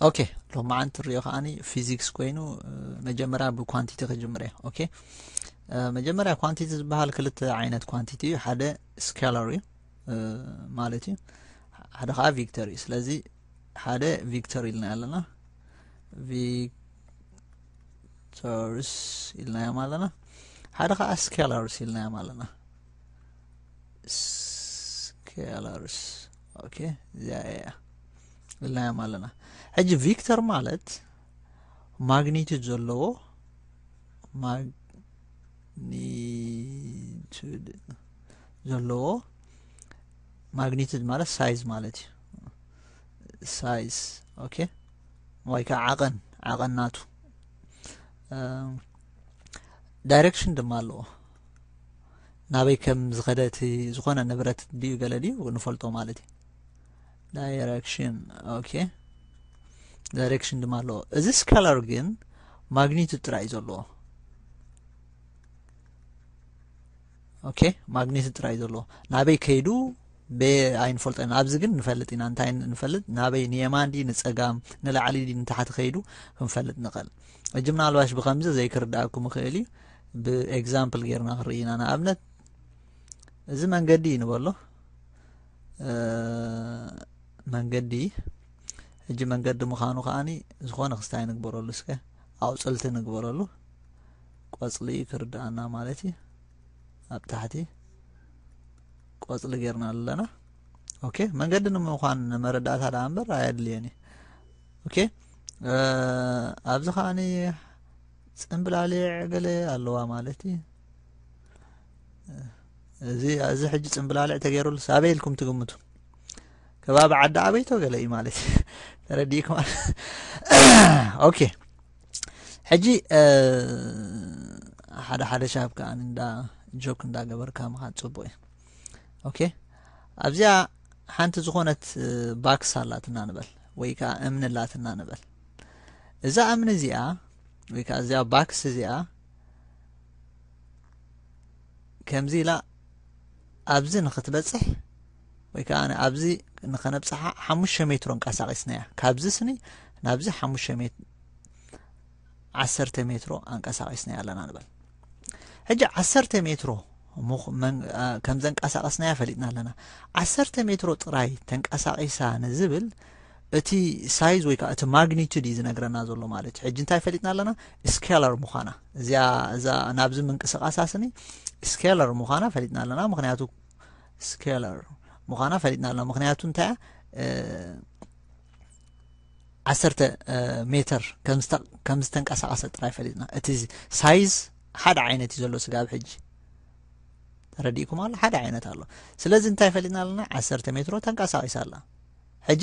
okay, ሎማዓንቲ ንሪኦ ከዓኒ physics ኮይኑ፣ መጀመርያ ብ quantity ክጅምር እየ። Okay, መጀመርያ quantity ዝበሃል ክልተ ዓይነት quantity እዩ። ሓደ scalar እዩ ማለት እዩ፣ ሓደ ከዓ vector እዩ። ስለዚ ሓደ vector ኢልና ኣለና፣ vectors ኢልናዮም ኣለና። ሓደ ከዓ scalars ኢልናዮም ኣለና። Scalars። Okay, እዚኣ እያ ኢልናዮም ኣለና። ሕጂ vector ማለት magnitude ዘለዎ፣ magnitude ዘለዎ፣ magnitude ማለት size ማለት እዩ። Size። Okay፣ ወይ ከዓ ዓቐን፣ ዓቐን ናቱ። Direction ድማ ኣለዎ፣ ናበይ ከም ዝኸደ እቲ ዝኾነ ንብረት ድዩ ገለ ድዩ ንፈልጦ ማለት እዩ። Direction። Okay፣ direction ድማ ኣለዎ። እዚ scalar ግን magnitude ጥራይ እዩ ዘለዎ። Okay፣ magnitude ጥራይ እዩ ዘለዎ፣ ናበይ ከይዱ በ ኣይንፈልጦ ኢና። ኣብዚ ግን ንፈልጥ ኢና። እንታይ ንፈልጥ? ናበይ፣ ንየማን ድዩ ንፀጋም፣ ንላዕሊ ድዩ ንታሕቲ ከይዱ ክንፈልጥ ንኽእል። ሕጂ ምናልባሽ ብኸምዚ ዘይክርዳእኩም ይኽእል እዩ። ብ example ጌርና ክንርኢ ኢና። ንኣብነት እዚ መንገዲ እዩ ንበሎ፣ መንገዲ። ሕጂ መንገዲ ምዃኑ ከዓኒ ዝኾነ ክስታይ ንግበረሉ፣ እስከ ኣቑፅልቲ ንግበረሉ። ቆፅሊ ክርዳእና ማለት እዩ። ኣብ ታሕቲ ቆፅሊ ጌርና ኣለና። Okay፣ መንገዲ ንምዃን መረዳእታ ደኣ እምበር ኣየድልየን እዩ። Okay፣ ኣብዚ ከዓኒ ፅምብላሊዕ ገለ ኣለዋ ማለት እዩ። እዚ እዚ ሕጂ ፅምብላሊዕ ተገይሩሉ ኣበይ ኢልኩም ትግምቱ? ከባቢ ዓዲ ኣበይቶ ገለ እዩ ማለት እዩ። ተረዲእኩም? Okay፣ ሕጂ ሓደ ሓደ ሻብ ከዓ እንዳ joke እንዳገበርካ ምኻድ ፅቡቅ እዩ። Okay፣ ኣብዚኣ ሓንቲ ዝኾነት box ኣላትና ንበል፣ ወይ ከዓ እምኒ ኣላትና ንበል። እዛ እምኒ እዚኣ ወይ ከዓ እዚኣ box እዚኣ ከምዚ ኢላ ኣብዚ ንክትበፅሕ ወይ ከዓ ኣብዚ ንኸነብፅሓ ሓሙሽተ ሜትሮ ኣንቀሳቒስናያ። ካብዚ ስኒ ናብዚ ሓሙሽተ ሜት-፣ ዓሰርተ ሜትሮ ኣንቀሳቒስናያ ኣለና ንበል። ሕጂ ዓሰርተ ሜትሮ ከም ዘንቀሳቐስናያ ፈሊጥና ኣለና። ዓሰርተ ሜትሮ ጥራይ ተንቀሳቒሳ ንዝብል እቲ size ወይ ከዓ እቲ magnitude እዩ ዝነግረና ዘሎ ማለት እዩ። ሕጂ እንታይ ፈሊጥና ኣለና? Scalar ምዃና። እዚኣ እዛ ናብዚ ምንቅስቓሳ ስኒ scalar ምዃና ፈሊጥና ኣለና። ምኽንያቱ scalar ምዃና ፈሊጥና ኣለና። ምኽንያቱ እንታይ እያ? ዓሰርተ ሜትር ከም ዝተንቀሳቐሰ ጥራይ ፈሊጥና። እቲ size ሓደ ዓይነት እዩ ዘሎ ስጋብ ሕጂ። ተረዲእኩም ኣሎ? ሓደ ዓይነት ኣሎ። ስለዚ እንታይ ፈሊጥና ኣለና? ዓሰርተ ሜትሮ ተንቀሳቒሳ ኣላ። ሕጂ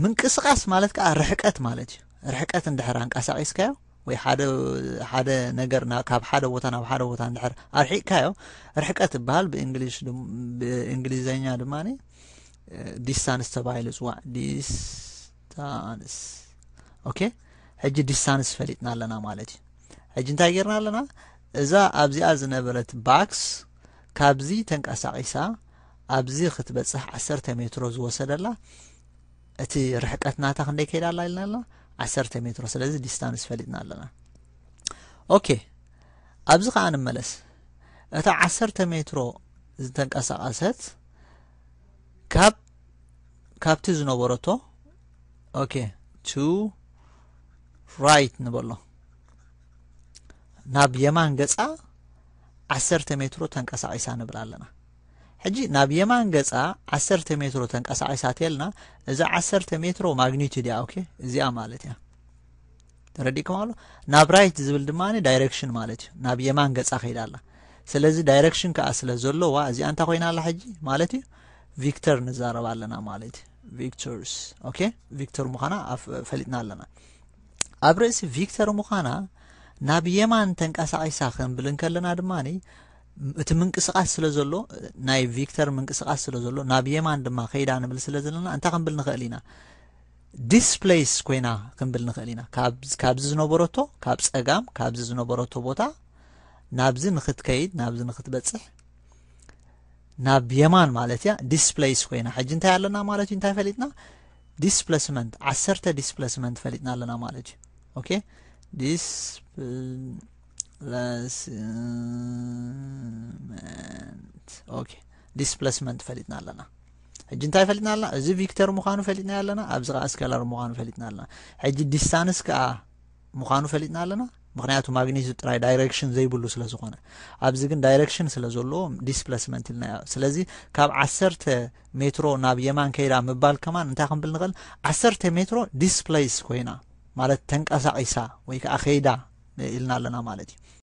ምንቅስቓስ ማለት ከዓ ርሕቀት ማለት እዩ። ርሕቀት እንድሕር ኣንቀሳቒስካዮ ወይ ሓደ ሓደ ነገር ናብ ካብ ሓደ ቦታ ናብ ሓደ ቦታ እንድሕር ኣርሒቕካዮ ርሕቀት ይበሃል። ብእንግሊሽ ድም- ብእንግሊዘኛ ድማ distance ተባሂሉ ይፅዋዕ። Distance። Okay፣ ሕጂ distance ፈሊጥና ኣለና ማለት እዩ። ሕጂ እንታይ ጌርና ኣለና? እዛ ኣብዚኣ ዝነበረት box ካብዚ ተንቀሳቒሳ ኣብዚ ክትበፅሕ ዓሰርተ ሜትሮ ዝወሰደላ እቲ ርሕቀት ናታ ክንደይ ከይዳ ኣላ ኢልና ኣለና? ዓሰርተ ሜትሮ። ስለዚ distance ፈሊጥና ኣለና። Okay፣ ኣብዚ ከዓ ንመለስ። እታ ዓሰርተ ሜትሮ ዝተንቀሳቐሰት ካብ ካብቲ ዝነበረቶ okay to right ንበሎ ናብ የማን ገፃ ዓሰርተ ሜትሮ ተንቀሳቒሳ ንብል ኣለና። ሕጂ ናብ የማን ገፃ ዓሰርተ ሜትሮ ተንቀሳቒሳ ተልና እዛ ዓሰርተ ሜትሮ magnitude እያ። Okay፣ እዚኣ ማለት እያ። ተረዲእኩም ኣሎ? ናብ right ዝብል ድማ direction ማለት እዩ። ናብ የማን ገፃ ከይዳ ኣላ። ስለዚ direction ከዓ ስለ ዘለዋ እዚኣ እንታይ ኮይና ኣላ ሕጂ ማለት እዩ? Vector ንዛረብ ኣለና ማለት እዩ። Vectors። Okay፣ vector ምዃና ኣፍ- ፈሊጥና ኣለና። ኣብ ርእሲ vector ምዃና ናብ የማን ተንቀሳቒሳ ክንብል እንከለና ድማ እቲ ምንቅስቓስ ስለ ዘሎ ናይ vector ምንቅስቓስ ስለ ዘሎ ናብ የማን ድማ ከይዳ ንብል ስለ ዘለና እንታይ ክንብል ንኽእል ኢና? Displace ኮይና ክንብል ንኽእል ኢና። ካብ ካብዚ ዝነበረቶ ካብ ፀጋም ካብዚ ዝነበረቶ ቦታ ናብዚ ንክትከይድ ናብዚ ንክትበፅሕ ናብ የማን ማለት እያ displace ኮይና። ሕጂ እንታይ ኣለና ማለት እዩ? እንታይ ፈሊጥና? displacement ዓሰርተ displacement ፈሊጥና ኣለና ማለት እዩ። okay displacement okay displacement ፈሊጥና ኣለና። ሕጂ እንታይ ፈሊጥና ኣለና? እዚ vector ምዃኑ ፈሊጥና ኣለና፣ ኣብዚ ከዓ scalar ምዃኑ ፈሊጥና ኣለና። ሕጂ distance ከዓ ምዃኑ ፈሊጥና ኣለና፣ ምክንያቱ magnitude ጥራይ direction ዘይብሉ ስለ ዝኾነ። ኣብዚ ግን direction ስለ ዘለዎ displacement ኢልና። ስለዚ ካብ ዓሰርተ ሜትሮ ናብ የማን ከይዳ ምባል ከማን እንታይ ክንብል ንኽእል? ዓሰርተ ሜትሮ displace ኮይና ማለት ተንቀሳቒሳ ወይ ከዓ ከይዳ ኢልና ኣለና ማለት እዩ።